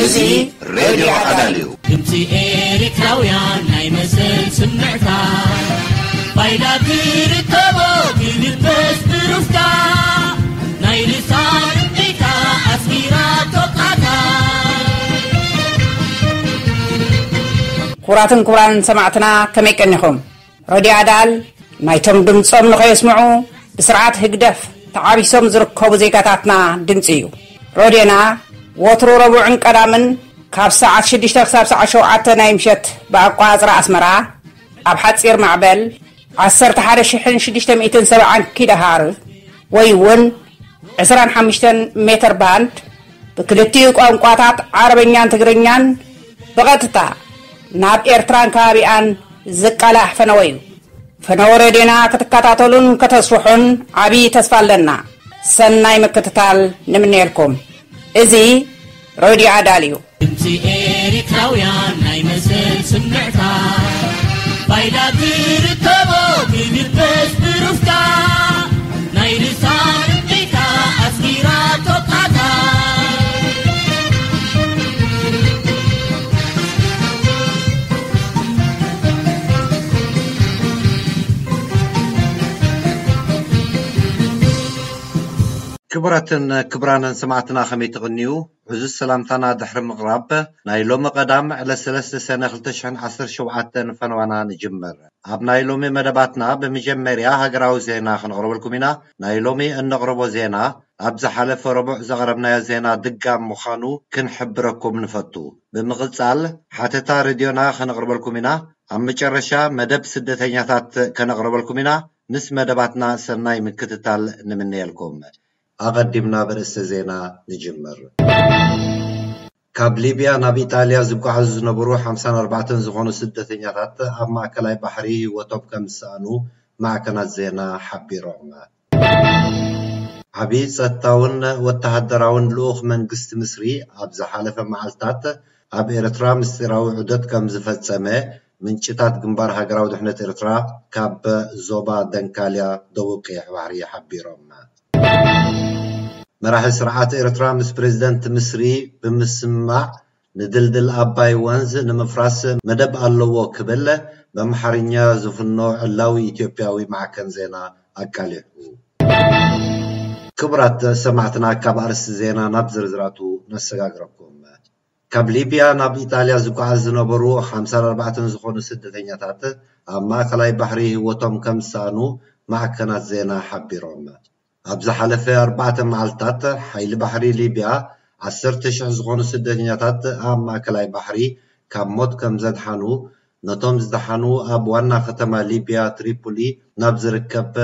እዚ ሬድዮ ኣዳል እዩ። ድምፂ ኤርትራውያን ናይ መሰል ስምዕታ፣ ፋይዳ ትርከቦ ትልበስ ብሩፍታ፣ ናይ ልሳን እምቢታ ኣስጊራ ቶቃታ። ክቡራትን ክቡራንን ሰማዕትና፣ ከመይ ቀኒኹም? ረድዮ ኣዳል ናይቶም ድምጾም ንኸየስምዑ ብስርዓት ህግደፍ ተዓቢሶም ዝርከቡ ዜጋታትና ድምጺ እዩ። ረድዮና ወትሩ ረቡዕን ቀዳምን ካብ ሰዓት ሽዱሽተ ክሳብ ሰዓት ሸውዓተ ናይ ምሸት ብኣቋጽራ ኣስመራ ኣብ ሓጺር ማዕበል ዓሰርተ ሓደ ሽሕን ሽዱሽተ ሚእትን ሰብዓን ኪሎ ሃርዝ ወይ እውን ዕስራን ሓሙሽተን ሜተር ባንድ ብክልቲኡ ቋንቋታት ዓረበኛን ትግርኛን ብቐጥታ ናብ ኤርትራን ከባቢኣን ዝቃላሕ ፈነወ እዩ። ፈነወ ሬድዮና ክትከታተሉን ከተስፍሑን ዓብዪ ተስፋ ኣለና። ሰናይ ምክትታል ንምነየልኩም። እዚ ሬድዮ ኣዳል እዩ። ድምፂ ኤርትራውያን ናይ መሰል ስምዕታ፣ ፋይዳ ትርከቦ ትልበስ ብሩፍታ፣ ናይ ልሳን እምቢታ ኣስጊራ ቶቃታ። ክቡራትን ክቡራንን ሰማዕትና ከመይ ትቕንዩ? ዕዙዝ ሰላምታና ድሕሪ ምቕራብ፣ ናይ ሎሚ ቀዳም ዕለት ሰለስተ ሰነ ክልተ ሽሕን ዓሰርተ ሸውዓተን ፈነዋና ንጅምር። ኣብ ናይ ሎሚ መደባትና ብመጀመርያ ሃገራዊ ዜና ክነቕርበልኩም ኢና። ናይ ሎሚ እነቕርቦ ዜና ኣብ ዝሓለፈ ረቡዕ ዘቕረብናዮ ዜና ድጋም ምዃኑ ክንሕብረኩም ንፈቱ። ብምቕጻል ሓተታ ሬድዮና ከነቕርበልኩም ኢና። ኣብ መጨረሻ መደብ ስደተኛታት ከነቕርበልኩም ኢና። ምስ መደባትና ሰናይ ምክትታል ንምነየልኩም። ኣቐዲምና ብርእሰ ዜና ንጅምር። ካብ ሊብያ ናብ ኢጣልያ ዝጓዓዙ ዝነበሩ ሓምሳን ኣርባዕተን ዝኾኑ ስደተኛታት ኣብ ማእከላይ ባሕሪ ህይወቶም ከም ዝሰኣኑ ማዕከናት ዜና ሓቢሮም። ዓቢ ጸጥታውን ወተሃደራውን ልኡኽ መንግስቲ ምስሪ ኣብ ዝሓለፈ መዓልታት ኣብ ኤርትራ ምስጢራዊ ዑደት ከም ዝፈጸመ ምንጭታት ግንባር ሃገራዊ ድሕነት ኤርትራ ካብ ዞባ ደንካልያ ደቡብ ቀይሕ ባሕሪ ሓቢሮም። መራሒ ስርዓት ኤርትራ ምስ ፕሬዝደንት ምስሪ ብምስምማዕ ንድልድል ኣባይ ወንዝ ንምፍራስ መደብ ኣለዎ ክብል በምሓርኛ ዝፍኖ ዕላዊ ኢትዮጵያዊ ማዕከን ዜና ኣቃሊሑ። ክቡራት ሰማዕትና፣ ካብ ኣርእስቲ ዜና ናብ ዝርዝራቱ ነሰጋግረኩም። ካብ ሊብያ ናብ ኢጣልያ ዝጓዓዝ ዝነበሩ ሓምሳን ኣርባዕተን ዝኾኑ ስደተኛታት ኣብ ማእከላይ ባሕሪ ህይወቶም ከም ዝሰኣኑ ማዕከናት ዜና ሓቢሮም። ኣብ ዝሓለፈ ኣርባዕተ መዓልታት ሓይሊ ባሕሪ ሊብያ ዓሰርተ ሽሕ ዝኾኑ ስደተኛታት ኣብ ማእከላይ ባሕሪ ካብ ሞት ከም ዘድሓኑ፣ ነቶም ዝደሓኑ ኣብ ዋና ከተማ ሊብያ ትሪፖሊ ናብ ዝርከብ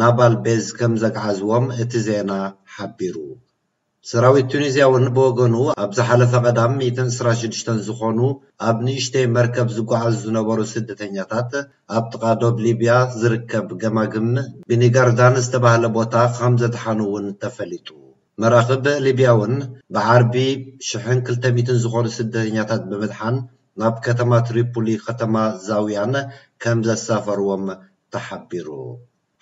ናቫል ቤዝ ከም ዘግዓዝዎም እቲ ዜና ሓቢሩ። ሰራዊት ቱኒዝያ እውን ብወገኑ ኣብ ዝሓለፈ ቀዳም ሚእትን ዕስራን ሽዱሽተን ዝኾኑ ኣብ ንእሽተይ መርከብ ዝጓዓዙ ዝነበሩ ስደተኛታት ኣብ ጥቓ ዶብ ሊብያ ዝርከብ ገማግም ብኒጋርዳን ዝተባህለ ቦታ ከም ዘድሓኑ እውን ተፈሊጡ። መራኽብ ሊብያ እውን ብዓርቢ ሽሕን ክልተ ሚእትን ዝኾኑ ስደተኛታት ብምድሓን ናብ ከተማ ትሪፖሊ ከተማ ዛውያን ከም ዘሳፈርዎም ተሓቢሩ።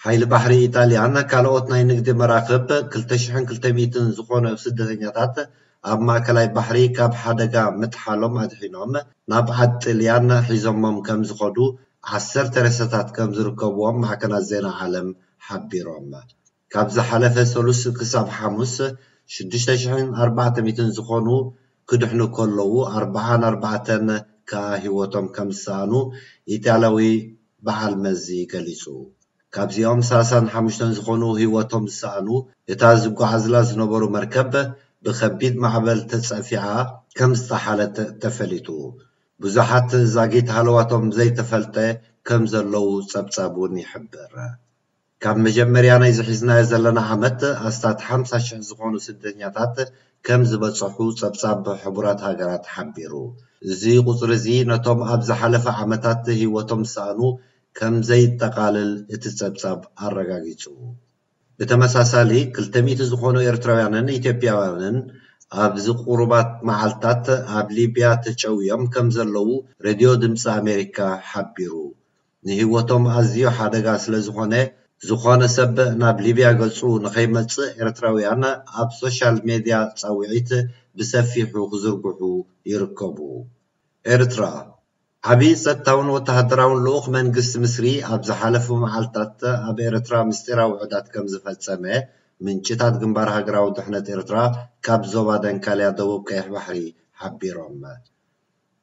ሓይሊ ባሕሪ ኢጣልያን ካልኦት ናይ ንግዲ መራኽብ ክልተ ሽሕን ክልተ ሚእትን ዝኾነ ስደተኛታት ኣብ ማእከላይ ባሕሪ ካብ ሓደጋ ምጥሓሎም ኣድሒኖም ናብ ዓዲ ጥልያን ሒዞሞም ከም ዝኸዱ ዓሰርተ ሬሳታት ከም ዝርከብዎም ማዕከናት ዜና ዓለም ሓቢሮም። ካብ ዝሓለፈ ሰሉስ ክሳብ ሓሙስ ሽዱሽተ ሽሕን ኣርባዕተ ሚእትን ዝኾኑ ክድሕኑ ከለዉ ኣርብዓን ኣርባዕተን ከኣ ህይወቶም ከም ዝሰኣኑ ኢጣልያዊ በዓል መዚ ገሊጹ። ካብዚኦም ሰላሳን ሓሙሽተን ዝኾኑ ህይወቶም ዝሰኣኑ፣ እታ ዝጓዓዝላ ዝነበሩ መርከብ ብኸቢድ ማዕበል ተጸፊዓ ከም ዝጠሓለት ተፈሊጡ። ብዙሓት ዛጊት ሃለዋቶም ዘይተፈልጠ ከም ዘለዉ ጸብጻብ እውን ይሕብር። ካብ መጀመርያ ናይዚ ሒዝናዮ ዘለና ዓመት ኣስታት ሓምሳ ሽሕ ዝኾኑ ስደተኛታት ከም ዝበጽሑ ጸብጻብ ሕቡራት ሃገራት ሓቢሩ። እዚ ቁጽሪ እዚ ነቶም ኣብ ዝሓለፈ ዓመታት ህይወቶም ዝሰኣኑ ከም ዘየጠቓልል እቲ ጸብጻብ ኣረጋጊጹ። ብተመሳሳሊ ክልተ ሚእቲ ዝኾኑ ኤርትራውያንን ኢትዮጵያውያንን ኣብዚ ቁሩባት መዓልታት ኣብ ሊብያ ተጨውዮም ከም ዘለዉ ሬድዮ ድምፂ ኣሜሪካ ሓቢሩ። ንህይወቶም ኣዝዩ ሓደጋ ስለ ዝኾነ ዝኾነ ሰብ ናብ ሊብያ ገጹ ንኸይመጽእ ኤርትራውያን ኣብ ሶሻል ሜድያ ጻውዒት ብሰፊሑ ክዝርግሑ ይርከቡ። ኤርትራ፣ ዓቢ ጸጥታውን ወተሃደራውን ልኡኽ መንግስቲ ምስሪ ኣብ ዝሓለፉ መዓልታት ኣብ ኤርትራ ምስጢራዊ ውዕዳት ከም ዝፈጸመ ምንጭታት ግንባር ሃገራዊ ድሕነት ኤርትራ ካብ ዞባ ደንካልያ ደቡብ ቀይሕ ባሕሪ ሓቢሮም።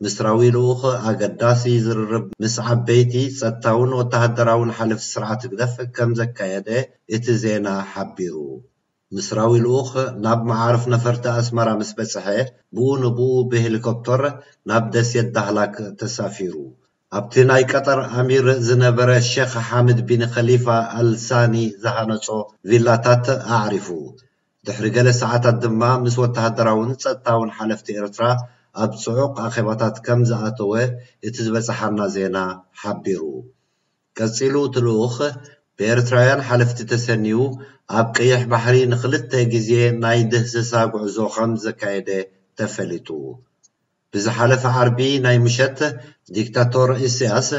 ምስራዊ ልኡኽ ኣገዳሲ ዝርርብ ምስ ዓበይቲ ጸጥታውን ወተሃደራውን ሓለፍቲ ስርዓት ህግደፍ ከም ዘካየደ እቲ ዜና ሓቢሩ። ምስራዊ ልኡኽ ናብ መዓርፍ ነፈርቲ ኣስመራ ምስ በጽሐ፣ ብኡ ንብኡ ብሄሊኮፕተር ናብ ደሴት ዳህላክ ተሳፊሩ። ኣብቲ ናይ ቀጠር ኣሚር ዝነበረ ሼኽ ሓምድ ቢን ኸሊፋ ኣል ሳኒ ዝሃነጾ ቪላታት ኣዕሪፉ። ድሕሪ ገለ ሰዓታት ድማ ምስ ወተሃደራውን ጸጥታውን ሓለፍቲ ኤርትራ ኣብ ጽዑቕ ኣኼባታት ከም ዝኣተወ እቲ ዝበጽሓና ዜና ሓቢሩ። ቀጺሉ እቲ ልኡኽ፣ ብኤርትራውያን ሓለፍቲ ተሰንዩ ኣብ ቀይሕ ባሕሪ ንኽልተ ግዜ ናይ ድህሰሳ ጉዕዞ ከም ዘካየደ ተፈሊጡ። ብዝሓለፈ ዓርቢ ናይ ምሸት፣ ዲክታቶር ኢሳያስ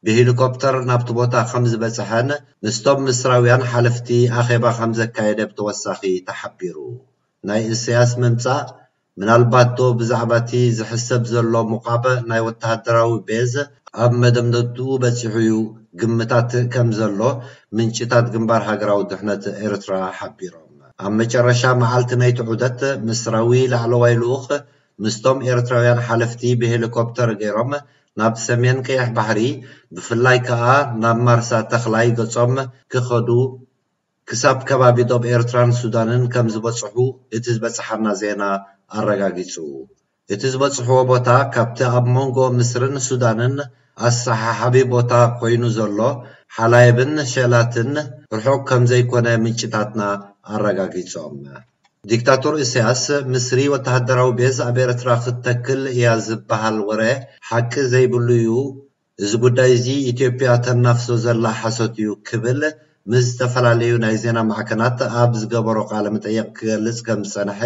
ብሄሊኮፕተር ናብቲ ቦታ ከም ዝበጽሐን ምስቶም ምስራውያን ሓለፍቲ ኣኼባ ከም ዘካየደ ብተወሳኺ ተሓቢሩ። ናይ ኢሳያስ ምምጻእ ምናልባት ዶ ብዛዕባ እቲ ዝሕሰብ ዘሎ ምቋብ ናይ ወተሃደራዊ ቤዝ ኣብ መደምደምትኡ በጺሑ እዩ ግምታት ከም ዘሎ ምንጭታት ግንባር ሃገራዊ ድሕነት ኤርትራ ሓቢሮም። ኣብ መጨረሻ መዓልቲ ናይቲ ዑደት ምስራዊ ላዕለዋይ ልኡኽ ምስቶም ኤርትራውያን ሓለፍቲ ብሄሊኮፕተር ገይሮም ናብ ሰሜን ቀይሕ ባሕሪ፣ ብፍላይ ከኣ ናብ ማርሳ ተኽላይ ገጾም ክኸዱ ክሳብ ከባቢ ዶብ ኤርትራን ሱዳንን ከም ዝበጽሑ እቲ ዝበጽሓና ዜና ኣረጋጊጹ። እቲ ዝበጽሕዎ ቦታ ካብቲ ኣብ መንጎ ምስርን ሱዳንን ኣሰሓሓቢ ቦታ ኮይኑ ዘሎ ሓላይብን ሸላትን ርሑቕ ከም ዘይኮነ ምንጭታትና ኣረጋጊጾም። ዲክታቶር ኢሳያስ፣ ምስሪ ወተሃደራዊ ቤዝ ኣብ ኤርትራ ክትተክል እያ ዝበሃል ወረ ሓቂ ዘይብሉ እዩ። እዚ ጉዳይ እዚ ኢትዮጵያ ተናፍሶ ዘላ ሓሶት እዩ ክብል ምስ ዝተፈላለዩ ናይ ዜና ማዕከናት ኣብ ዝገበሮ ቃለ መጠይቕ ክገልጽ ከም ዝጸንሐ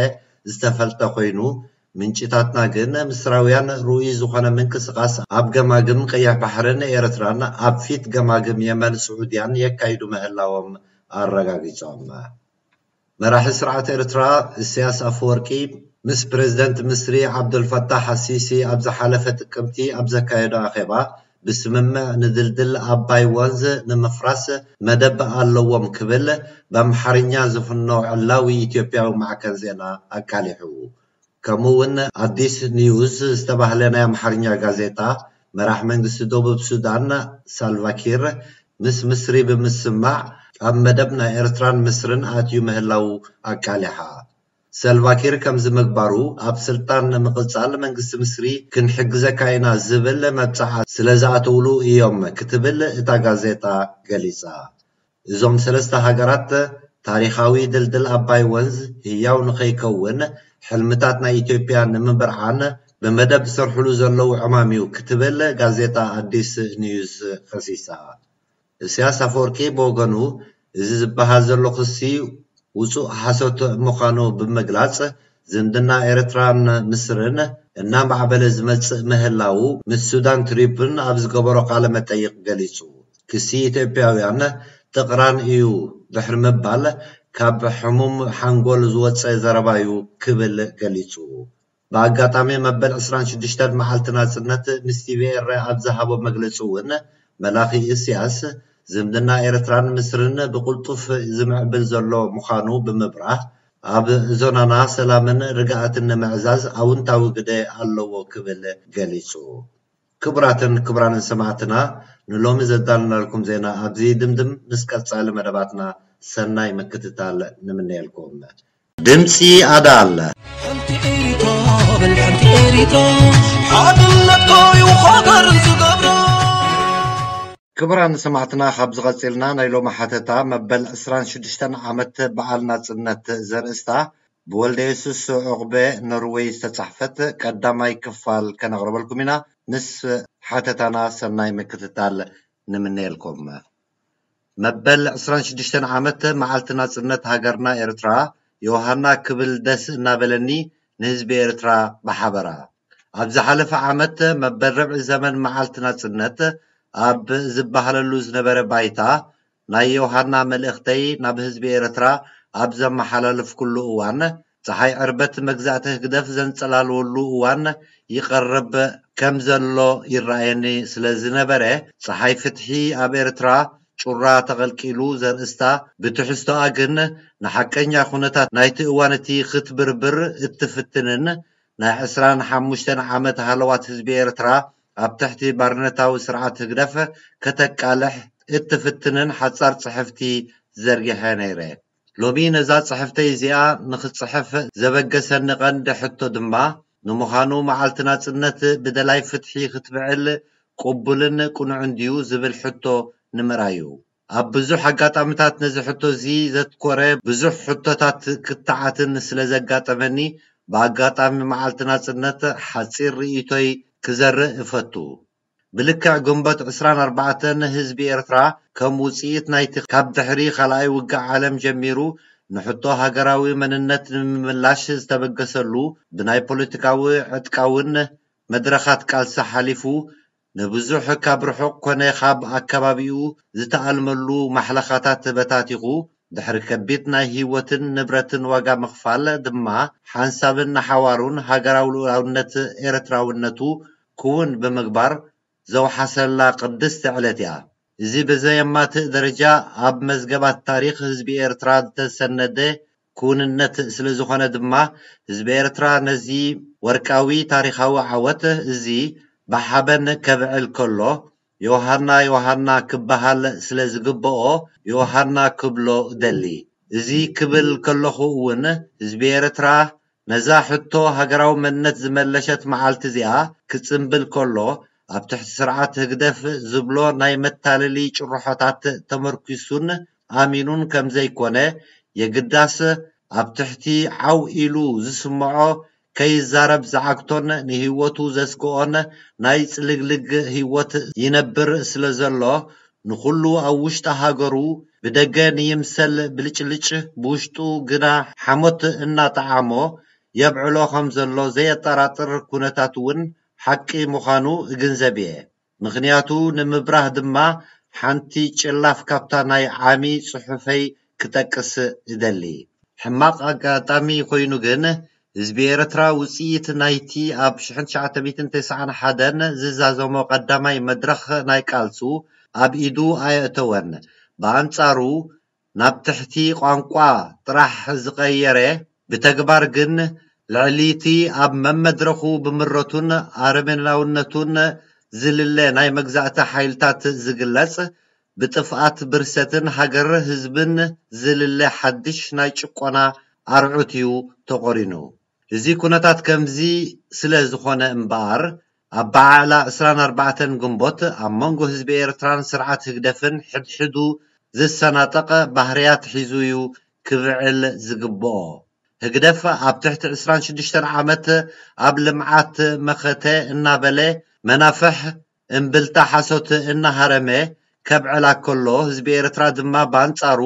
ዝተፈልጠ ኮይኑ፣ ምንጭታትና ግን ምስራውያን ርኡይ ዝኾነ ምንቅስቓስ ኣብ ገማግም ቀይሕ ባሕርን ኤርትራን ኣብ ፊት ገማግም የመን ስዑድያን የካይዱ ምህላዎም ኣረጋጊጾም። መራሒ ስርዓት ኤርትራ ኢሳያስ ኣፈወርቂ ምስ ፕሬዝደንት ምስሪ ዓብዱልፈታሕ ኣሲሲ ኣብ ዝሓለፈ ጥቅምቲ ኣብ ዘካየዶ ኣኼባ፣ ብስምምዕ ንድልድል ኣባይ ወንዝ ንምፍራስ መደብ ኣለዎም ክብል ብኣምሓርኛ ዝፍኖ ዕላዊ ኢትዮጵያዊ ማዕከን ዜና ኣቃሊሑ። ከምኡ እውን ኣዲስ ኒውስ ዝተባህለ ናይ ኣምሓርኛ ጋዜጣ፣ መራሕ መንግስቲ ደቡብ ሱዳን ሳልቫኪር ምስ ምስሪ ብምስማዕ ኣብ መደብ ናይ ኤርትራን ምስርን ኣትዩ ምህላዉ ኣቃሊሓ። ሳልቫኪር ከምዚ ምግባሩ ኣብ ስልጣን ንምቕጻል መንግስቲ ምስሪ ክንሕግዘካ ኢና ዝብል መብጽዓ ስለ ዝኣተውሉ እዮም ክትብል እታ ጋዜጣ ገሊጻ። እዞም ሰለስተ ሃገራት ታሪኻዊ ድልድል ኣባይ ወንዝ ህያው ንኸይከውን ሕልምታት ናይ ኢትዮጵያ ንምብርዓን ብመደብ ዝሰርሕሉ ዘለዉ ዕማም እዩ ክትብል ጋዜጣ ኣዲስ ኒውስ ከሲሳ። ኢሳያስ ኣፈወርቂ ብወገኑ፣ እዚ ዝበሃል ዘሎ ክሲ ውጹእ ሓሶት ምዃኑ ብምግላጽ፣ ዝምድና ኤርትራን ምስርን እናማዕበለ ዝመጽእ ምህላዉ፣ ምስ ሱዳን ትሪቡን ኣብ ዝገበሮ ቃለ መጠይቕ ገሊጹ። ክሲ ኢትዮጵያውያን ጥቕራን እዩ ድሕሪ ምባል፣ ካብ ሕሙም ሓንጎል ዝወጸ ዘረባ እዩ ክብል ገሊጹ። ብኣጋጣሚ መበል ዕስራን ሽዱሽተን መዓልቲ ናጽነት ምስ ቲቪኤረ ኣብ ዝሃቦ መግለጺ እውን፣ መላኺ ኢሳያስ፣ ዝምድና ኤርትራን ምስርን ብቕልጡፍ ዝምዕብል ዘሎ ምዃኑ ብምብራህ፣ ኣብ ዞናና ሰላምን ርግኣትን ንምዕዛዝ ኣውንታዊ ግደ ኣለዎ ክብል ገሊጹ። ክቡራትን ክቡራንን ሰማዕትና፣ ንሎሚ ዘዳለናልኩም ዜና ኣብዚ ድምድም። ምስ ቀጻሊ መደባትና ሰናይ ምክትታል ንምነየልኩም። ድምጺ ኣዳል። ሓንቲ ኤሪትራ በል ሓንቲ ኤሪትራ፣ ሓድነትካ እዩ ሃገር ዝገብራ። ክቡራን ሰማዕትና፣ ካብ ዝቐጺልና ናይ ሎሚ ሓተታ መበል ዕስራን ሽዱሽተን ዓመት በዓል ናጽነት ዘርእስታ ብወልደ የሱስ ዑቕበ ኖርወይ ዝተጻሕፈት ቀዳማይ ክፋል ከነቕርበልኩም ኢና። ምስ ሓተታና ሰናይ ምክትታል ንምነየልኩም። መበል ዕስራን ሽዱሽተን ዓመት መዓልቲ ናጽነት ሃገርና ኤርትራ ዮሃና ክብል ደስ እናበለኒ ንህዝቢ ኤርትራ ብሓበራ። ኣብ ዝሓለፈ ዓመት መበል ርብዒ ዘመን መዓልቲ ናጽነት ኣብ ዝበሃለሉ ዝነበረ ባይታ ናይ ዮሃና መልእኽተይ ናብ ህዝቢ ኤርትራ ኣብ ዘመሓላለፍኩሉ እዋን፣ ጸሓይ ዕርበት መግዛእቲ ህግደፍ ዘንጸላልወሉ እዋን ይቐርብ ከም ዘሎ ይረኣየኒ ስለ ዝነበረ፣ ጸሓይ ፍትሒ ኣብ ኤርትራ ጩራ ተቐልቂሉ ዘርእስታ ብትሕዝቶኣ ግን ንሓቀኛ ኩነታት ናይቲ እዋን እቲ ክትብርብር እትፍትንን ናይ ዕስራን ሓሙሽተን ዓመት ሃለዋት ህዝቢ ኤርትራ ኣብ ትሕቲ ባርነታዊ ስርዓት ህግደፍ ከተቃልሕ እትፍትንን ሓጻር ጽሕፍቲ ዘርጊሐ ነይረ። ሎሚ ነዛ ጽሕፍተይ እዚኣ ንኽጽሕፍ ዘበገሰኒ ቀንዲ ሕቶ ድማ፣ ንምዃኑ መዓልቲ ናጽነት ብደላይ ፍትሒ ክትብዕል ቅቡልን ቅኑዕን ድዩ ዝብል ሕቶ ንምርኣይ እዩ። ኣብ ብዙሕ ኣጋጣሚታት ነዚ ሕቶ እዚ ዘትኮረ ብዙሕ ሕቶታት ክትዓትን ስለ ዘጋጠመኒ፣ ብኣጋጣሚ መዓልቲ ናጽነት ሓጺር ርእይቶይ ክዘርእ እፈቱ። ብልክዕ ግንቦት ዕስራን ኣርባዕተን ህዝቢ ኤርትራ ከም ውጽኢት ናይቲ ካብ ድሕሪ ካልኣይ ውግእ ዓለም ጀሚሩ ንሕቶ ሃገራዊ መንነት ንምምላሽ ዝተበገሰሉ ብናይ ፖለቲካዊ ዕጥቃውን መድረኻት ቃልሲ ሓሊፉ ንብዙሕ ካብ ርሑቕ ኮነ ካብ ኣከባቢኡ ዝተኣልመሉ ማሕለኻታት በታቲኹ ድሕሪ ከቢድ ናይ ህይወትን ንብረትን ዋጋ ምኽፋል ድማ ሓንሳብን ንሓዋሩን ሃገራዊ ልኡላውነት ኤርትራውነቱ ክውን ብምግባር ዘውሓሰላ ቅድስቲ ዕለት እያ። እዚ ብዘየማትእ ደረጃ ኣብ መዝገባት ታሪኽ ህዝቢ ኤርትራ ዝተሰነደ ክውንነት ስለ ዝኾነ ድማ ህዝቢ ኤርትራ ነዚ ወርቃዊ ታሪኻዊ ዓወት እዚ ብሓበን ከብዕል ከሎ ዮሃና ዮሃና ክበሃል ስለ ዝግብኦ ዮሃና ክብሎ እደሊ። እዚ ክብል ከለኹ እውን ህዝቢ ኤርትራ ነዛ ሕቶ ሃገራዊ መንነት ዝመለሸት መዓልቲ እዚኣ ክጽንብል ከሎ ኣብ ትሕቲ ስርዓት ህግደፍ ዝብሎ ናይ መታለሊ ጭርሖታት ተመርኪሱን ኣሚኑን ከም ዘይኮነ የግዳስ ኣብ ትሕቲ ዓው ኢሉ ዝስምዖ ከይዛረብ ዝዓግቶን ንህይወቱ ዘስግኦን ናይ ጽልግልግ ህይወት ይነብር ስለ ዘሎ ንኹሉ ኣብ ውሽጢ ሃገሩ ብደገ ንይምሰል ብልጭልጭ ብውሽጡ ግና ሓሞት እናጠዓሞ የብዕሎ ከም ዘሎ ዘየጠራጥር ኩነታት እውን ሓቂ ምዃኑ እግንዘብ እየ። ምኽንያቱ ንምብራህ ድማ ሓንቲ ጭላፍ ካብታ ናይ ዓሚ ጽሑፈይ ክጠቅስ እደሊ። ሕማቕ ኣጋጣሚ ኮይኑ ግን ህዝቢ ኤርትራ ውጽኢት ናይቲ ኣብ ሽሕን ትሽዓተ ሚእትን ተስዓን ሓደን ዝዛዘሞ ቀዳማይ መድረኽ ናይ ቃልሱ ኣብ ኢዱ ኣየእተወን። ብኣንጻሩ ናብ ትሕቲ ቋንቋ ጥራሕ ዝቐየረ፣ ብተግባር ግን ልዕሊ እቲ ኣብ መመድረኹ ብምረቱን ኣረሜናውነቱን ዝልለ ናይ መግዛእቲ ሓይልታት ዝግለጽ፣ ብጥፍኣት ብርሰትን ሃገር ህዝብን ዝልለ ሓድሽ ናይ ጭቆና ኣርዑት እዩ ተቖሪኑ። እዚ ኩነታት ከምዚ ስለ ዝኾነ እምበኣር፣ ኣበዓዕላ ዕስራን ኣርባዕተን ግንቦት ኣብ መንጎ ህዝቢ ኤርትራን ስርዓት ህግደፍን ሕድሕዱ ዝሰናጠቐ ባህርያት ሒዙ እዩ ክብዕል ዝግብኦ። ህግደፍ ኣብ ትሕቲ ዕስራን ሽዱሽተን ዓመት ኣብ ልምዓት መኸተ እናበለ መናፍሕ እምብልታ ሓሶት እናሃረመ ከብዕላ ከሎ፣ ህዝቢ ኤርትራ ድማ ብኣንጻሩ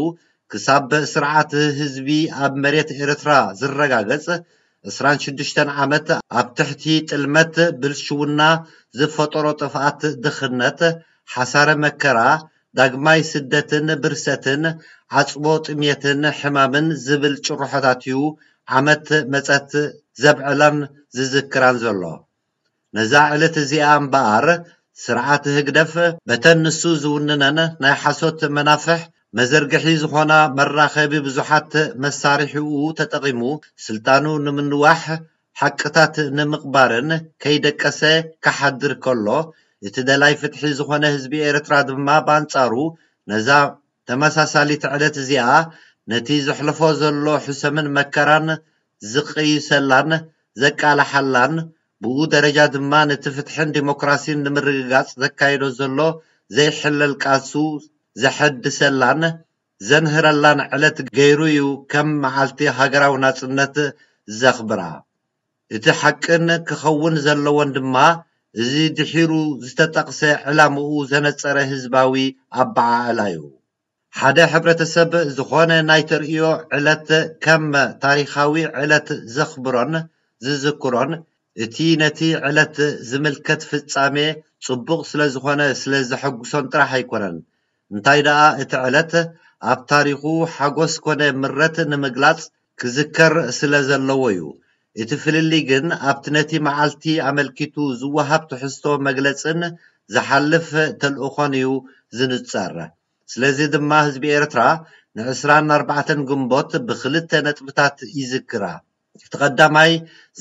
ክሳብ ስርዓት ህዝቢ ኣብ መሬት ኤርትራ ዝረጋገጽ ዕስራን ሽዱሽተን ዓመት ኣብ ትሕቲ ጥልመት ብልሽውና ዝፈጠሮ ጥፍኣት፣ ድኽነት፣ ሓሳረ መከራ፣ ዳግማይ ስደትን ብርሰትን፣ ዓጽቦ ጥሜትን ሕማምን ዝብል ጭርሖታት እዩ ዓመት መጸት ዘብዕላን ዝዝክራን ዘሎ። ነዛ ዕለት እዚኣ እምበኣር ስርዓት ህግደፍ በተን ንሱ ዝውንነን ናይ ሓሶት መናፍሕ መዘርግሒ ዝኾና መራኸቢ ብዙሓት መሳርሒኡ ተጠቒሙ ስልጣኑ ንምንዋሕ ሓቅታት ንምቕባርን ከይደቀሰ ክሓድር ከሎ፣ እቲ ደላይ ፍትሒ ዝኾነ ህዝቢ ኤርትራ ድማ ብኣንጻሩ ነዛ ተመሳሳሊት ዕለት እዚኣ ነቲ ዘሕልፎ ዘሎ ሕሰምን መከራን ዝቕይሰላን ዘቃልሓላን፣ ብኡ ደረጃ ድማ ነቲ ፍትሕን ዲሞክራሲን ንምርግጋጽ ዘካይዶ ዘሎ ዘይሕለል ቃልሱ ዘሐድሰላን ዘንህረላን ዕለት ገይሩ እዩ ከም መዓልቲ ሃገራዊ ናጽነት ዘኽብራ። እቲ ሓቅን ክኸውን ዘለዎን ድማ እዚ ድሒሩ ዝተጠቕሰ ዕላምኡ ዘነጸረ ህዝባዊ ኣበዓዕላ እዩ። ሓደ ሕብረተሰብ ዝኾነ ናይ ተርእዮ ዕለት ከም ታሪኻዊ ዕለት ዘኽብሮን ዝዝክሮን፣ እቲ ነቲ ዕለት ዝምልከት ፍጻሜ ጽቡቕ ስለ ዝኾነ ስለ ዘሐጉሶን ጥራሕ ኣይኮነን። እንታይ ደኣ እቲ ዕለት ኣብ ታሪኹ ሓጎስ ኮነ ምረት ንምግላጽ ክዝከር ስለ ዘለዎ እዩ። እቲ ፍልልይ ግን ኣብቲ ነቲ መዓልቲ ኣመልኪቱ ዝወሃብ ትሕዝቶ መግለጽን ዝሓልፍ ተልእኾን እዩ ዝንጸር። ስለዚ ድማ ህዝቢ ኤርትራ ንዕስራን ኣርባዕተን ግንቦት ብኽልተ ነጥብታት ይዝክራ። እቲ ቀዳማይ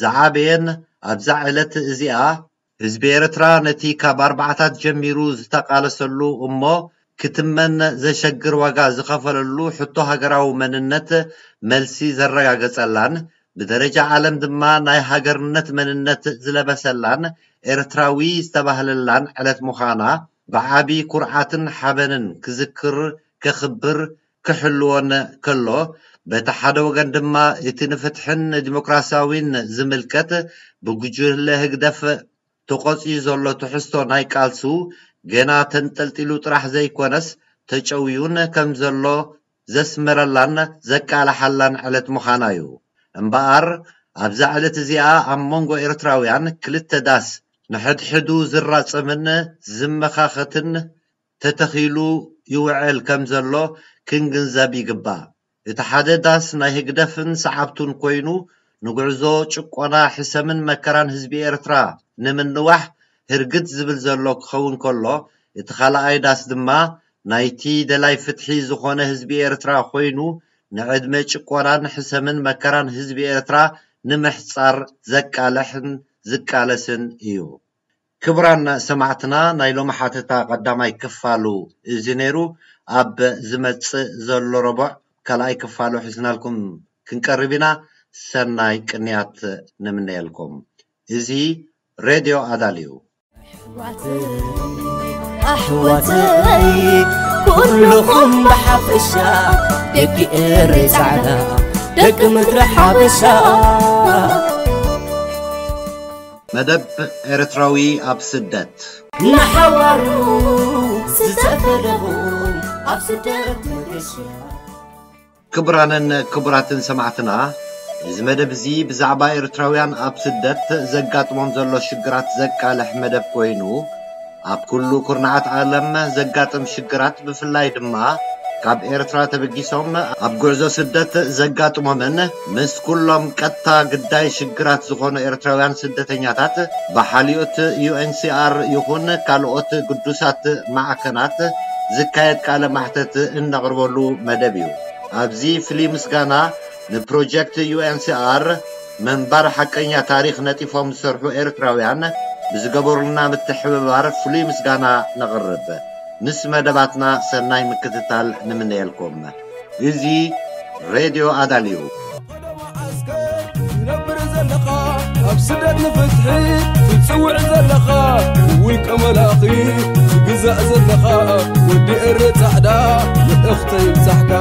ዝዓበየን ኣብዛ ዕለት እዚኣ ህዝቢ ኤርትራ ነቲ ካብ ኣርባዓታት ጀሚሩ ዝተቃለሰሉ እሞ ክትመን ዘሸግር ዋጋ ዝኸፈለሉ ሕቶ ሃገራዊ መንነት መልሲ ዘረጋገጸላን ብደረጃ ዓለም ድማ ናይ ሃገርነት መንነት ዝለበሰላን ኤርትራዊ ዝተባህለላን ዕለት ምዃና ብዓቢ ኩርዓትን ሓበንን ክዝክር፣ ከኽብር፣ ክሕልዎን ከሎ፣ በቲ ሓደ ወገን ድማ እቲ ንፍትሕን ንዲሞክራሲያዊን ዝምልከት ብጉጅለ ህግደፍ ተቖጽዩ ዘሎ ትሕዝቶ ናይ ቃልሱ ገና ተንጠልጢሉ ጥራሕ ዘይኮነስ ተጨውዩን ከም ዘሎ ዘስመረላን ዘቃልሓላን ዕለት ምዃና እዩ። እምበኣር ኣብዛ ዕለት እዚኣ ኣብ መንጎ ኤርትራውያን ክልተ ዳስ ንሕድሕዱ ዝራጸምን ዝመኻኸትን ተተኺሉ ይውዕል ከም ዘሎ ክንግንዘብ ይግባእ። እቲ ሓደ ዳስ ናይ ህግደፍን ሰዓብቱን ኮይኑ ንጉዕዞ ጭቆና፣ ሕሰምን መከራን ህዝቢ ኤርትራ ንምንዋሕ ህርግት ዝብል ዘሎ ክኸውን ከሎ፣ እቲ ካልኣይ ዳስ ድማ ናይቲ ደላይ ፍትሒ ዝኾነ ህዝቢ ኤርትራ ኮይኑ ንዕድመ ጭቆናን ሕሰምን መከራን ህዝቢ ኤርትራ ንምሕጻር ዘቃልሕን ዝቃለስን እዩ። ክቡራን ሰማዕትና፣ ናይ ሎሚ ሓተታ ቀዳማይ ክፋሉ እዚ ነይሩ። ኣብ ዝመጽእ ዘሎ ረቡዕ ካልኣይ ክፋሉ ሒዝናልኩም ክንቀርብ ኢና። ሰናይ ቅንያት ንምነየልኩም። እዚ ሬድዮ ኣዳል እዩ። ኣሕዋተይ ኩልኹም ብሓፈሻ ደቂ ኤረይ ጻዕዳ ደቂ ምድሪ ሓበሻ። መደብ ኤርትራዊ ኣብ ስደት። ንሓዋሩ ዝተፈለኹ ኣብ ስደት መገሻ። ክቡራንን ክቡራትን ሰማዕትና፣ እዚ መደብ እዚ ብዛዕባ ኤርትራውያን ኣብ ስደት ዘጋጥሞም ዘሎ ሽግራት ዘቃልሕ መደብ ኮይኑ፣ ኣብ ኩሉ ኩርናዓት ዓለም ዘጋጥም ሽግራት፣ ብፍላይ ድማ ካብ ኤርትራ ተበጊሶም ኣብ ጉዕዞ ስደት ዘጋጥሞምን ምስ ኩሎም ቀጥታ ግዳይ ሽግራት ዝኾኑ ኤርትራውያን ስደተኛታት ብሓልዮት ዩ ኤን ሲ ኣር ይኹን ካልኦት ግዱሳት ማዕከናት ዝካየድ ቃለ ማሕተት እነቕርበሉ መደብ እዩ። ኣብዚ ፍሉይ ምስጋና ንፕሮጀክት ዩ ኤን ሲ ኣር ምንባር ሓቀኛ ታሪኽ ነጢፎም ዝሰርሑ ኤርትራውያን ብዝገበሩልና ምትሕብባር ፍሉይ ምስጋና ነቕርብ። ምስ መደባትና ሰናይ ምክትታል ንምነየልኩም። እዚ ሬድዮ ኣዳል እዩ። ዝነብር ዘለኻ ኣብ ስደት ንፍትሒ ትጽውዕ ዘለኻ ውልቀ መላኺ ትግዛእ ዘለኻ ወዲ ኤረ ጻዕዳ መልእኽተይ ይብጻሕካ።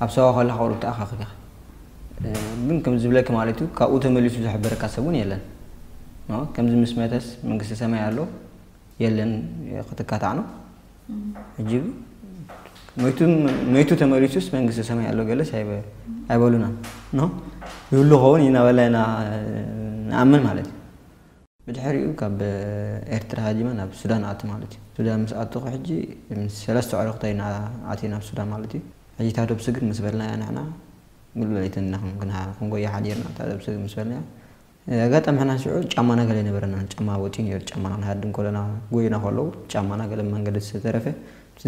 ኣብ ሰዋ ከለኻ ቁሩብ ተኣኻኺብካ። እ፣ ግን ከም ዝብለኪ ማለት እዩ፣ ካብኡ ተመሊሱ ዝሕበረካ ሰብ እውን የለን። ኖ፣ ከምዚ ምስ መተስ መንግስቲ ሰማይ ኣሎ የለን ክትካታዕ ነው። ሕጂ መይቱ፣ መይቱ ተመሊሱስ መንግስቲ ሰማይ ኣሎ ገለስ ኣይበ-፣ ኣይበሉናን። ኖ፣ ይህሉ ኸውን ኢና በልና ኢና ንኣምን ማለት እዩ። ብድሕሪኡ ካብ ኤርትራ ሃዲመ ናብ ሱዳን ኣቱ ማለት እዩ። ሱዳን ምስ ኣተኹ ሕጂ ምስ ሰለስተ ኣዕሩኽተይ ኢና ኣትየ ናብ ሱዳን ማለት እዩ። ሕጂ እታ ዶብ ስግር ምስ በልናያ ንሕና ሙሉ ለይትን ኢና ክንጎያ ሓዲርና፣ እታ ዶብ ስግር ምስ በልናያ። ኣጋጣሚ ሕና ሽዑ ጫማና ገለ ኣይነበረናን። ጫማ ወጺኡ ነይሩ፣ ጫማና ክንሃድም ከለና ጎይና ከለዉ ጫማና ገለ መንገዲ ዝተረፈ።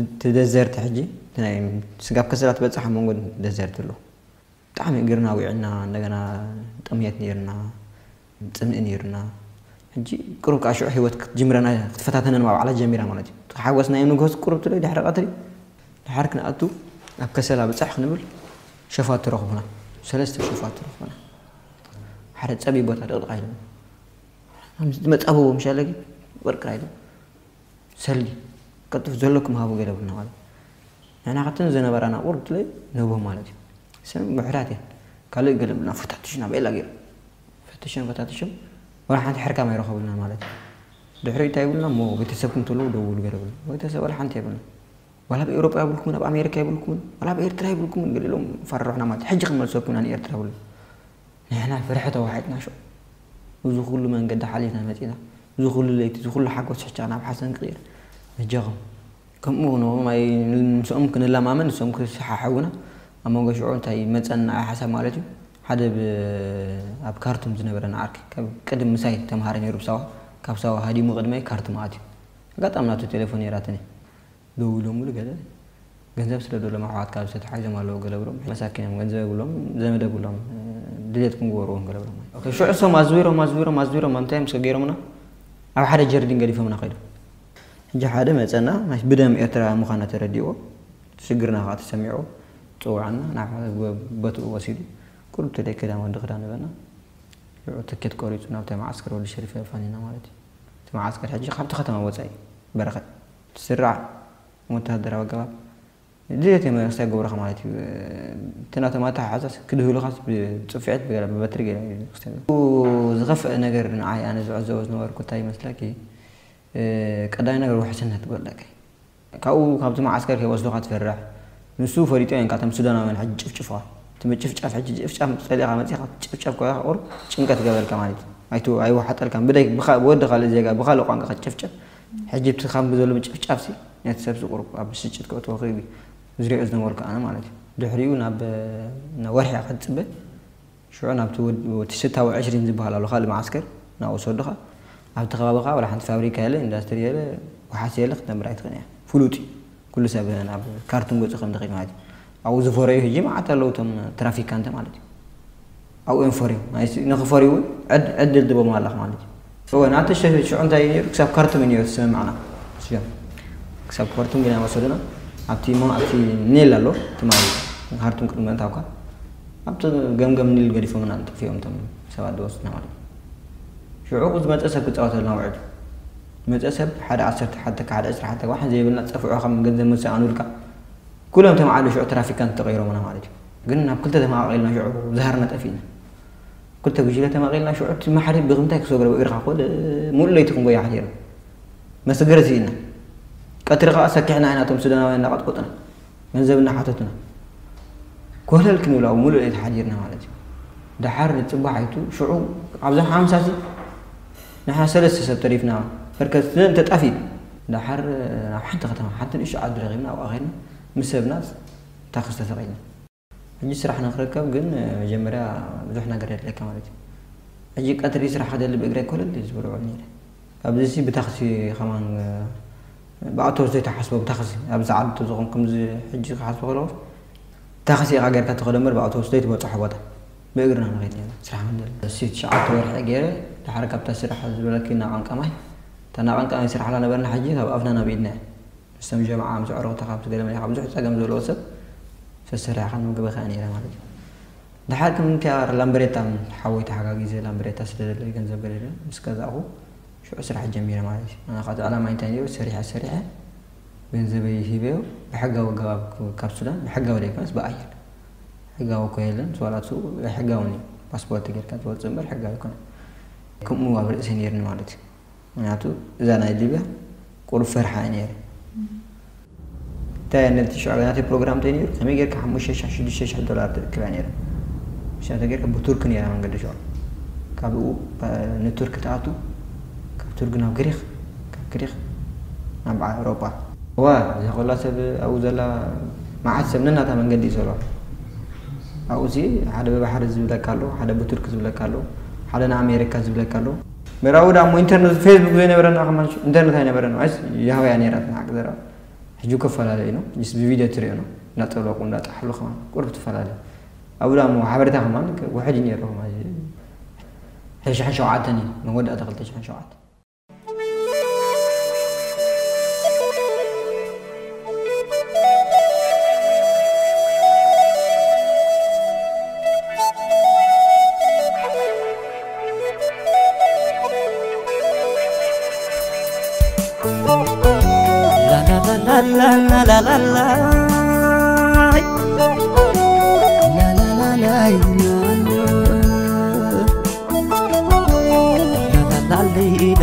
እቲ ደዘርት ሕጂ እቲ ናይ ስጋብ ከሰላ ትበጽሕ ኣብ መንጎ ደዘርት ኣሎ። ብጣዕሚ እግርና ዊዕና፣ እንደገና ጥምየት ነይርና፣ ጽምኢ ነይርና። ሕጂ ቅሩብ ከዓ ሽዑ ህይወት ክትጅምረና ክትፈታተነን ማባዕላ ጀሚራ ማለት እዩ። ሓጎስና እዮም ንግሆ ቅሩብ ትለይ ድሕሪ ቀትሪ ድሓር ክንኣቱ ኣብ ከሰላ ብጻሕ ክንብል ሸፋቱ ረኽቡና። ሰለስተ ሸፋቱ ረኽቡና። ሓደ ጸቢብ ቦታ ድቕድቕ ኢሎም። መጻብቦ ምሻለጊ ወርቅራ ኢሎም። ሰሊ ቀልጥፍ ዘለኩም ሃቡ ገለ ብልና ማለት። ንሕና ካብተን ዝነበራና ቁርብ ትለይ ንህቦም ማለት እዩ። ሰም ምሕራት እየን። ካልእ ገለ ብልና ፈታትሽና በላ ገይሩ። ፈትሽም ፈታትሽም ወላ ሓንቲ ሕርካም ኣይረኸቡልና ማለት እዩ። ድሕሪ እንታይ ይብሉና? እሞ ቤተሰብኩም ትብሉ ደውሉ ገለ ብሉ። ቤተሰብ ወላ ሓንቲ የብልና። ዋላ ኣብ ኤውሮጳ ይብልኩምን፣ ኣብ ኣሜሪካ ይብልኩምን፣ ዋላ ኣብ ኤርትራ ይብልኩምን፣ ገለ ኢሎም ፈርሑና ማለት እዩ። ሕጂ ክንመልሰኩም ኢና ንኤርትራ ብሉ። ንሕና ፍርሒ ተዋሒጥና ሸው። እዚ ኩሉ መንገዲ ሓሊፍና መጺና። እዚ ኩሉ ለይቲ፣ እዚ ኩሉ ሓጎስ ሕጫ ናብ ሓሰን ክቕይር። በጃኹም። ከምኡ ንኹም ኣይ-፣ ምስኦም ክንለማመን፣ ንሶም ክሰሓሕቡና። ኣብ መንጎ ሽዑ እንታይ መጸና ሓሳብ ማለት እዩ። ሓደ ብ-፣ ኣብ ካርቱም ዝነበረና ዓርኪ፣ ካብ ቅድም ምሳይ ተምሃረ ነይሩ ብሳዋ። ካብ ሳዋ ሃዲሙ ቅድመይ ካርቱም ኣትዩ። ኣጋጣሚ ናቱ ቴሌፎን ነይራትኒ። ደዊሎምሉ ገለ ገንዘብ ስደዶሎም ኣሕዋትካ ኣብዚ ተታሒዞም ኣለዉ ገለ ብሎም። መሳኪኖም ገንዘብ የብሎም፣ ዘመድ የብሎም፣ ድሌትኩም ግበርዎም ገለ ብሎም። ኦኬ፣ ሽዑ እሶም ኣዝዊሮም፣ ኣዝዊሮም፣ ኣዝዊሮም፣ ኣብ እንታይ እዮም ገይሮምና? ኣብ ሓደ ጀርዲን ገዲፎምና ከይዶም። ሕጂ ሓደ መጸና፣ ናይ ብደም ኤርትራ ምዃና ተረዲእዎ፣ ሽግርና ከኣ ተሰሚዕዎ፣ ጽውዓና፣ ናብ ሓደ ቦትኡ ወሲዱ፣ ቁሩብ ተደይ ክዳን ወዲ ክዳን ንበና። ሽዑ ትኬት ቆሪጹ ናብቲ መዓስከር ወዲ ሸሪፍ ኣፋኒና ማለት እዩ። እቲ መዓስከር ሕጂ ካብቲ ከተማ ወጻኢ በረኸት ትስራዕ ወተሃደራዊ ኣገባብ ድሌት እዮም ክሳይ ገብረኻ ማለት እዩ። እቲ ናቶም ኣተሓሕዛስ ክድህሉኻስ ብጽፍዒት ብገለ ብበትሪ ገለ እዩ ክሳይ ዝኸፍአ ነገር ንዓይ ኣነ ዝዕዘቦ ዝነበርኩ እንታይ ይመስለኪ? እ፣ ቀዳማይ ነገር ውሕስነት ክበለካ እዩ። ካብኡ ካብቲ መዓስከር ከይወስዱኻ ትፈርሕ። ንሱ ፈሊጡ እዮም፣ ካብቶም ሱዳናውያን ሕጂ ጭፍጭፍኻ። እቲ ምጭፍጫፍ ሕጂ ጭፍጫፍ ጸሊእኻ መጺኻ ጭፍጫፍ ኮይካ ቁሩብ ጭንቀት ገበልካ ማለት እዩ። ኣይት-፣ ኣይወሓጠልካን። ብደይ-፣ ብኻ-፣ ብወዲ ካልእ ዜጋ፣ ብኻልእ ቋንቋ ክትጭፍጨፍ። ሕጂ እቲ ካብ ዘሎ ምጭፍጫፍሲ ነቲ ሰብሲ ቁሩብ ኣብ ብስጭት ከእትዎ ክእል እዩ። ዝሪኦ ዝነበርኩ ኣነ ማለት እዩ። ድሕሪኡ ናብ፣ ናብ ወርሒ ክትጽበ ሽዑ ናብቲ ወድ-፣ እቲ ስታዊ ዕሽሪን ዝበሃል ኣሎ፣ ካልእ መዓስከር፣ ናብኡ ዝወስዱኻ። ኣብቲ ከባቢ ኸኣ ወላ ሓንቲ ፋብሪካ የለ፣ ኢንዳስትሪ የለ፣ ወሓሲ የለ፣ ክትነብር ኣይትኽእልን እያ። ፍሉጥ እዩ። ኩሉ ሰብ ናብ ካርቱም ገጹ ከም ዝኸይድ ማለት እዩ። ኣብኡ ዝፈረዩ ሕጂ መዓት ኣለዉ፣ እቶም ትራፊካንት ማለት እዩ። ኣብኡ እዮም ፈርዮም። ናይ ስ-፣ ንኽፈርዩ እውን ዕድ-፣ ዕድል ትቦም ኣለኻ ማለት እዩ። እወ፣ ናቲ ሸ-፣ ሽዑ እንታይ እዩ ነይሩ? ክሳብ ካርቱም እዩ ነይሩ፣ እቲ ስምምዕና። እዚኦም ክሳብ ካርቱም ግን ወሰዱና። ኣብቲ ሞ-፣ ኣብቲ ኒል ኣሎ፣ እቲ ማይ ካርቱም ቅድሚ ምእታውካ፣ ኣብቲ ገምገም ኒል ገዲፎምና ጠፊኦም እቶም ሰባት ዝወስዱና ማለት እዩ። ሽዑ ዝመጸ ሰብ ክጻወተልና ውዕል። ዝመጸ ሰብ ሓደ ዓሰርተ ሓደ፣ ሓደ ዕስራ ሓደ፣ ዋሕን ዘይብልና፣ ጸፍዑ ከም ገንዘብ መሰኣኑልካ። ኩሎም ተማዕዶ ሽዑ ትራፊካንት ተቐይሮምና ማለት እዩ። ግን ናብ ክልተ ተመቓቒልና ሽዑ ዝሃርና ጠፊእና። ክልተ ጉጅለ ተመቒልና ሽዑ እቲ ማሕሪ ብምንታይ ክሰግሮ ብእግርኻ ኮለ ሙሉእ ለይቲ ክንጎያ ሓዲርና። መሰገሪ ስኢና። ቀትሪ ከኣ ሰኪሕና ኢና፣ እቶም ሱዳናውያን እናቐጥቆጡና፣ ገንዘብ እናሓተቱና። ኮለል ክንብል ኣብኡ ሙሉእ ለይቲ ሓዲርና ማለት እዩ። ደሓር ንጽባሕ ኣይቱ ሽዑ ኣብዛ ሓምሳ ሲ ንሕና ሰለስተ ሰብ ተሪፍና። በርከት ስለን ተጣፊ። ደሓር ናብ ሓንቲ ከተማ፣ ሓንቲ ንእሽቶ ዓዲ ረኺብና፣ ኣብኣ ኸይድና ምስ ሰብና ታክሲ ተሰቒልና። ሕጂ ስራሕ ንክርከብ ግን መጀመርያ ብዙሕ ነገር የድልየካ ማለት እዩ። ሕጂ ቀትሪ ስራሕ ክደሊ ብእግረይ ኮለል እዩ ዝበሎ ውዕል ነይረ። ካብዚ ሲ ብታክሲ ከማን፣ ብኣውቶቡስ ዘይተሓስቦ ብታክሲ ኣብዚ ዓዲ ዝኾን ከምዚ ሕጂ ክሓስቦ ከለኹ ታክሲ ኢኻ ጌርካ ትኸዶ እምበር ብኣውቶቡስ ዘይትበጽሖ ቦታ ብእግርና ንኸይድ ነይርና ስራሕ ክንደሊ። እሲ ትሽዓተ ወርሒ ገይረ ድሓር ካብታ ስራሕ ዝበለኪ እናቐንቀማይ፣ እታ እናቐንቀማይ ስራሕ ኣላ ነበርና ሕጂ ካብ ኣፍና ናብ ኢድና እያ። ምስቶም ጀምዓ ምስ ኣዕሩኽትኻ ምስ ገለ መሊኻ ብዙሕ ጸገም ዘለዎ ሰብ ሰሰሪሕኻ ንምግበኻ እያ ነይራ ማለት እዩ። ድሓር ከም እንቲኣ ላምበሬታ ሓወይ ተሓጋጊዘ ላምበሬታ ስለ ዘለይ ገንዘብ ገለ ኢለ ምስ ገዛእኹ ሽዑ ስራሕ ጀሚረ ማለት እዩ። ኣነ ከዓ እቲ ዕላማ እንታይ ነይሩ? ሰሪሐ ሰሪሐ ገንዘበይ ሂበዮ ብሕጋዊ ኣገባብ ካብ ሱዳን ብሕጋዊ ዘይኮነስ ብኣየር ሕጋዊ እኮ የለን። ስዋላቱ ሕጋዊ እዩ። ፓስፖርት ጌርካ ትወፅእ እምበር ሕጋዊ ኣይኮነን። ከምኡ ኣብ ርእሰይ ነይርኒ ማለት እዩ። ምክንያቱ እዛ ናይ ሊብያ ቁሩብ ፈርሓ እየ ነይረ። እንታይ እያ ነቲ ሽዑ ናተይ ፕሮግራም እንታይ ነይሩ? ከመይ ጌርካ ሓሙሽተ ሽሕ ሽዱሽተ ሽሕ ዶላር ትእክብ እያ ነይረ። ሽዑ እንታይ ጌርካ ብቱርክ ነይራ መንገዲ ሽዑ። ካብኡ፣ እ፣ ንቱርክ ትኣቱ፣ ካብ ቱርክ ናብ ግሪክ፣ ካብ ግሪክ ናብ ኣውሮጳ። እዋ፣ እዛ ኮላ ሰብ ኣብኡ ዘላ መዓት ሰብ ነናታ መንገዲ እዩ ዘሎ። ኣብኡ ሲ ሓደ ብባሕሪ ዝብለካ ኣሎ፣ ሓደ ብቱርክ ዝብለካ ኣሎ፣ ሓደ ንኣሜሪካ ዝብለካ ኣሎ። ምዕራቡ ደኣ እሞ ኢንተርነት፣ ፌስቡክ ዘይነበረና ከማን ኢንተርነት ኣይነበረን። ኣይስ ያህዋ እያ ነይራትና ሓቂ ዘረባ። ሕጂ እኮ ፈላለዩ ነው። ንስ ብቪድዮ ትሪኦ ነው። እንዳጠለቁ እንዳጠሓሉ ከማን ቁሩብ ትፈላለዩ። ኣብኡ ደኣ እሞ ሓበሬታ ከማን ውሕድ እዩ ነይሩ። ከማን ሕጂ ሽሕን ሸውዓተን እዩ። መወዳእታ ክልተ ሽሕን ሸውዓተን።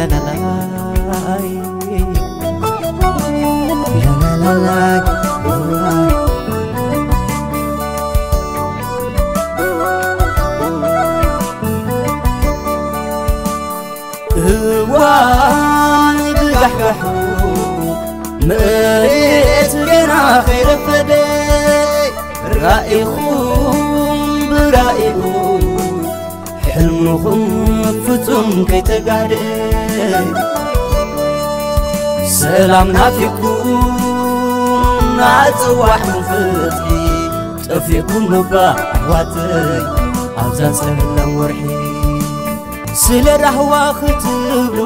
ላላላይ፣ ላላላይ። እዋን ብጋሕጋሑ መሬት ገና ከይረፈደ፣ ራኢኹም ብራኢኹም ሕልምኹም ፍጹም ከይተጋድአ፣ ሰላም ናፊቕኩም ኣጽዋዕኩም ፍትሒ ጠፊእኩም እባ ኣሕዋተይ ኣብዛ ጸላም ወርሒ። ስለ ራህዋ ክትብሉ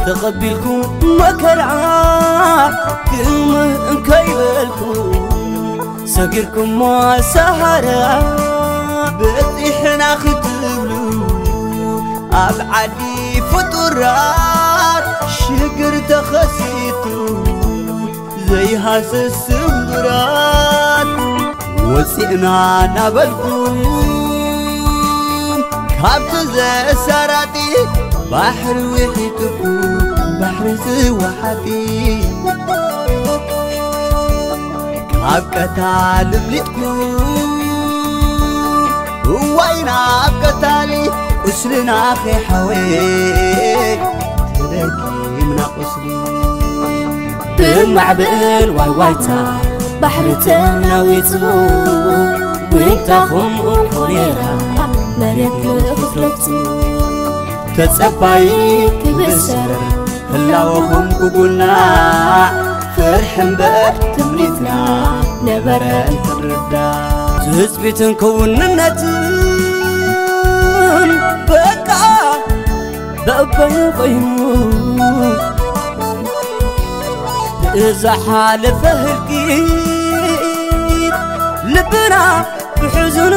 ተቐቢልኩም መከራ ክም እንከይበልኩም ሰጊርኩሞ ሰሃራ በጺሕና ክትብሉ ኣብ ዓዲ ፍጡራት ሽግር ተኸሲቱ ዘይሃስስ ስምብራት ወፂእና እናበልኩም ካብቲ ዘሳራጢ ባሕሪ ውሒጥኩም ባሕሪ ዝወሓጢ ካብ ቀታሊ ኣምሊጥኩም እዋይ ናብ ቀታሊ ቁስልና ከይሓወየ ተደጊምና ቁስሊ ብማዕበል ዋይዋይታ ባሕሪ ተናዊጹ ዊንታኹም እኮ ነይራ መሬት ንኽትረግጹ ተጸባይ ክብሰር ህላወኹም ክጉናዕ ፍርሒ እምበር ትምኒትና ነበረ እንትርዳእ ትጽቢትን ክውንነትን በቃ በበይኑ ኮይኑ ብዝሓለፈ ህልቂት ልብና ብሕዝኑ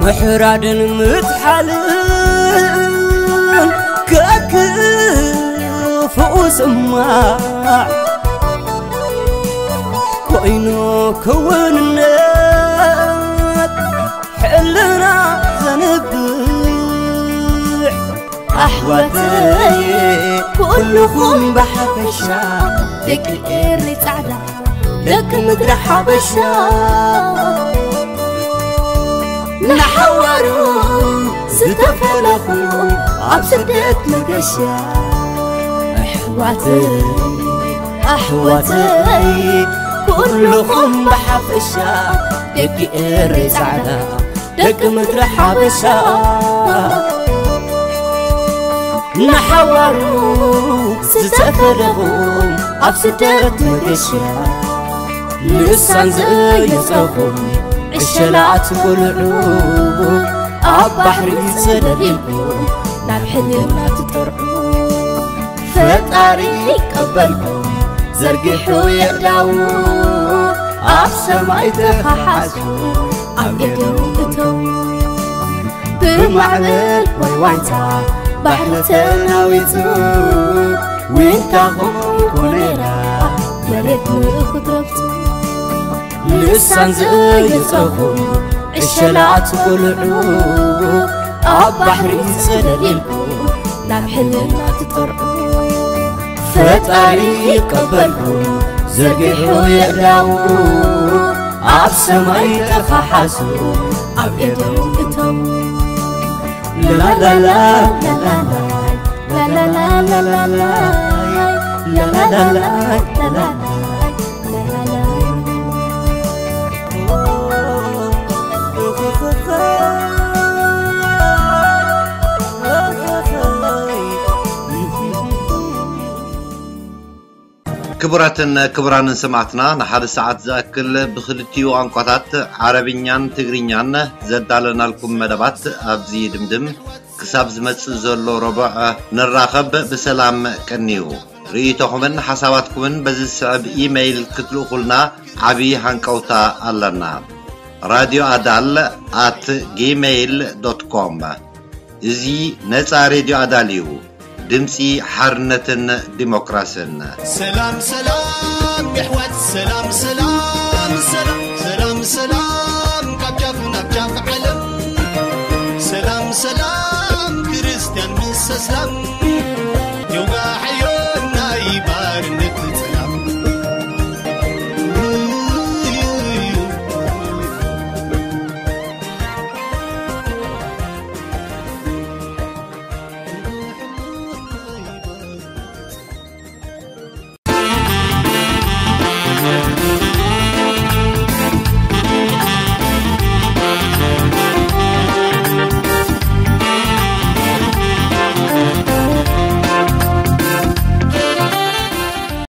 ምሕራድን ምጥሓልን ከክፉኡ ስማዕ ኮይኑ ክውንነት ሕልና ዘንብዕ ኣሕዋተይ ኩልኹም ብሓፈሻ ደቂ ኤሪ ጻዕዳ ደቂ ምድሪ ሓበሻ ንሓዋሩ ዝተፈለኹ ኣብ ስደት መገሻ ኣሕዋተይ ኣሕዋተይ ኩልኹም ብሓፈሻ ደቂ ኤሪ ጻዕዳ ደቂ ምድሪ ሓበሻ ንሓዋሩ ዝተፈለኹም ኣብ ስደት መገሻ ልሳን ዘየጽረኹም ዕሸላት ቆልዑ ኣብ ባሕሪ ዘለሊልኩም ናብ ሕልና ትጠርዑ ፈጣሪ ይቀበልኩም ዘርጊሑ የእዳዉ ኣብ ሰማይ ተኸሓሱ ኣብ ኤዶም እተዉ ብማዕበል ዋይዋይታ ባሕሪ ተናዊጹ ዊንታኹም ኮነራ መሬት ንኽትረግጹ ልሳን ዘየጽረኹም ዕሸላት ቆልዑ ኣብ ባሕሪ ዘለሊልኩም ናብ ሕልና ትጠርዑ ፈጣሪ ይቀበልኩም ዘርጊሑ የእዳዉ ኣብ ሰማይ ተኸሓሱ ኣብ ኤዶም እተዉ ላላላ ላላላ ላላላ ላላላ ላላላ ላላላ ክቡራትን ክቡራንን ሰማዕትና ንሓደ ሰዓት ዝኣክል ብክልቲኡ ቋንቋታት ዓረብኛን ትግርኛን ዘዳለናልኩም መደባት ኣብዚ ድምድም። ክሳብ ዝመጽእ ዘሎ ረቡዕ ንራኸብ። ብሰላም ቀንዩ። ርእይቶኹምን ሓሳባትኩምን በዚ ዝስዕብ ኢመይል ክትልእኹልና ዓቢ ሃንቀውታ ኣለና። ራድዮ ኣዳል ኣት ጂሜይል ዶት ኮም። እዚ ነጻ ሬድዮ ኣዳል እዩ። ድምጺ ሓርነትን ዲሞክራስን። ሰላም ሰላም የሕዋት ሰላም ሰላም